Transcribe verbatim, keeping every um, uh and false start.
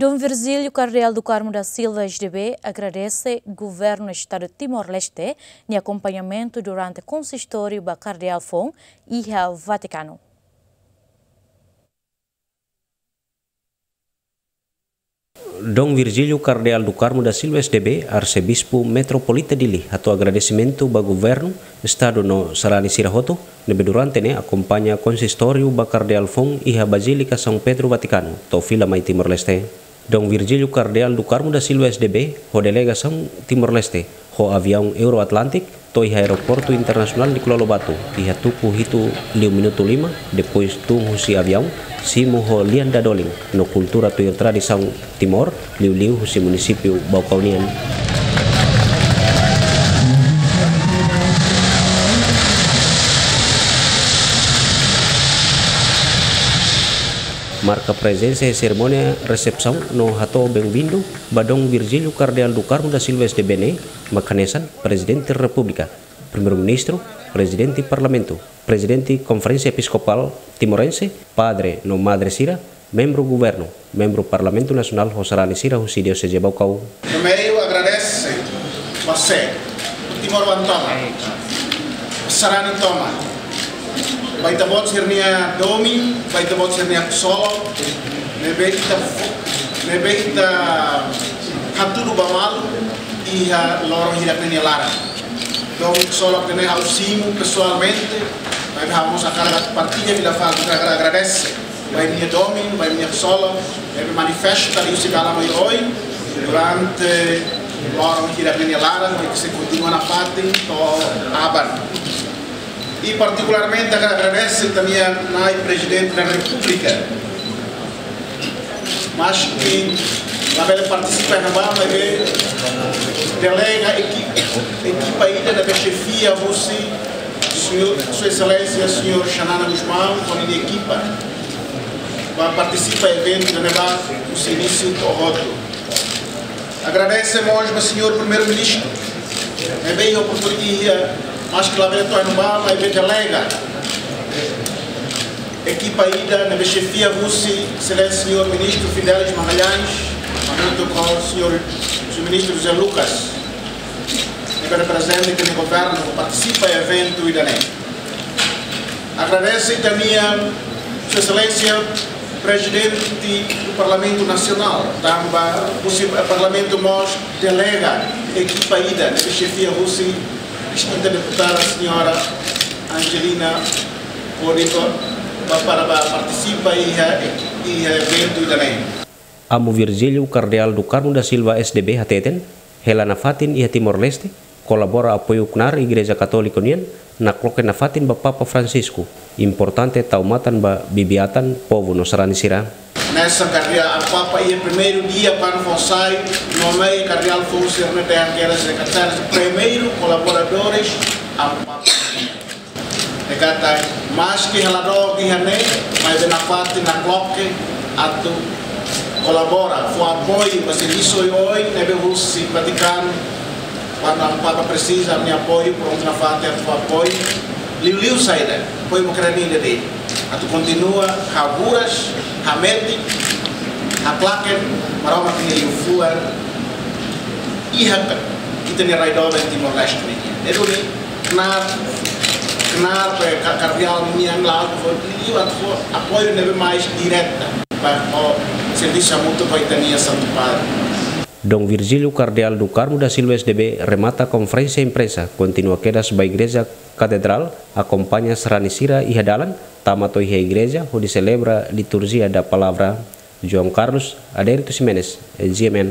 Dom Virgílio Kardeál do Carmo da Silva, S D B, agradese Governu Estadu Timor-Leste nia akompañamentu durante konsistóriu ba kardeál foun iha Vatikanu. Dom Virgílio Kardeál do Carmo da Silva, S D B, Arsebispu Metropolita Dili, hato'o agradesimentu ba Governu Estadu no sarani sira hotu ne'ebé durante ne'e akompaña konsistóriu ba kardeál foun iha Bazílika São Pedro, Vatikanu, to'o fila mai Timor-Leste. Dom Virgílio Kardeál do Carmo da Silva, S D B, ho delegasaun Timor-Leste, ho aviaun Euro Atlantic, to'o iha Aeroportu Internasionál Nicolau Lobato, iha tuku hitu liu minutu lima, depois tun husi aviaun, simu ho lian dadolin, no kultura tuir tradisaun Timor, liuliu husi munisípiu Baucau nian. Marka prezensa iha serimónia resepsaun no hato'o benvindu ba Dom Virgílio Kardeál do Carmo da Silva, S D B ne'e, mak hanesan Prezidente Repúblika, Primeiru-Ministru, Prezidente Parlamentu, Prezidente Konferénsia Episkopál Timorense, padre no madre sira, membru Governu, membru Parlamentu Nasionál ho sarani sira husi Dioseze Baucau. Primeiru, agradese ba sé, Timor-oan tomak, sarani tomak, ba ita-boot sira-nia domin, ba ita-boot sira-nia ksolok, ne'ebé ita fó, ne'ebé ita hatudu ba malu iha loron hirak ne'e nia laran. Domin ksolok ne'e ha'u simu pesoalmente, maibé ha'u mós hakarak partilla fila fali, hakarak agradese ba imi-nia domin, ba imi-nia ksolok, ne'ebé manifesta liuhusi dalan oioin durante loron hirak ne'e nia laran, no sei kontinua nafatin to'o aban. I partikularmente hakarak agradese ita-nia Nai Prezidente da Repúblika, maski labele partisipa iha ne'ebá, maibé delega ekipa, ekipa ida ne'ebé xefia husi señór, Sua Exelénsia señór Xanana Gusmão ho ninia ekipa, ba partisipa eventu ida-ne'ebá husi inísiu to'o hotu. Agradese mós ba señór Primeiru-Ministru, ne'ebé iha oportunidade, maski labele to'o iha ne'ebá, maibé delega ekipa ida ne'ebé xefia husi Exelénsia señór Ministru Fidelis Magalhães, hamutuk ho señór, señór Ministru José Lucas, ne'ebé reprezenta ita-nia Governu, partisipa eventu ida-ne'e. Agradese ita-nia Sua Exelénsia Prezidente do Parlamentu Nasionál, tanba husi Parlamentu mós delega ekipa ida ne'ebé xefia husi distinta deputada señora Angelina Rodrigo ba, para ba partisipa iha, iha eventu ida-ne'e. Amu Virgílio Kardeál do Carmo da Silva, S D B, hateten, hela nafatin iha Timor-Leste, kolabora apoiu knaar Igreja Katólika nian, nakloke nafatin ba Papa Francisco, importante tau matan ba bibi-atan, povu no sarani sira. Hanesan kardeál, Amu Papa iha primeiru dia kuandu fó sai, nomeia kardeál foun sira-ne'e, dehan kedas sekretáriu, primeiru kolaboradores, Amu Papa. Ne'e katak, maski hela dook iha ne'e, maibé nafatin nakloke atu kolabora, fó apoiu ba servisu oioin ne'ebé husi Vatikanu, kuandu Amu Papa presiza ami-nia apoiu, prontu nafatin atu fó apoiu. Liuliu saida, apoiu ba Ukraina de'it. Atu kontinua haburas, hametin, haklaken Maromak nia liafuan iha ita-nia rai doben Timor-Leste nian. Ne'e duni knaar, knaar pe ka-, kardeál nian la'o fó, liuliu atu fó apoiu ne'ebé mais direta ba, ba servisu hamutuk ho ita-nia Santu Padre. Dom Virgílio Kardeál do Carmo da Silva, S D B, remata konferénsia imprensa, kontinua kedas ba Igreja Katedrál, akompaña sarani sira iha dalan, tama to'o iha igreja, hodi selebra liturjia da palavra. João Carlos Adérito Ximenes, G M N.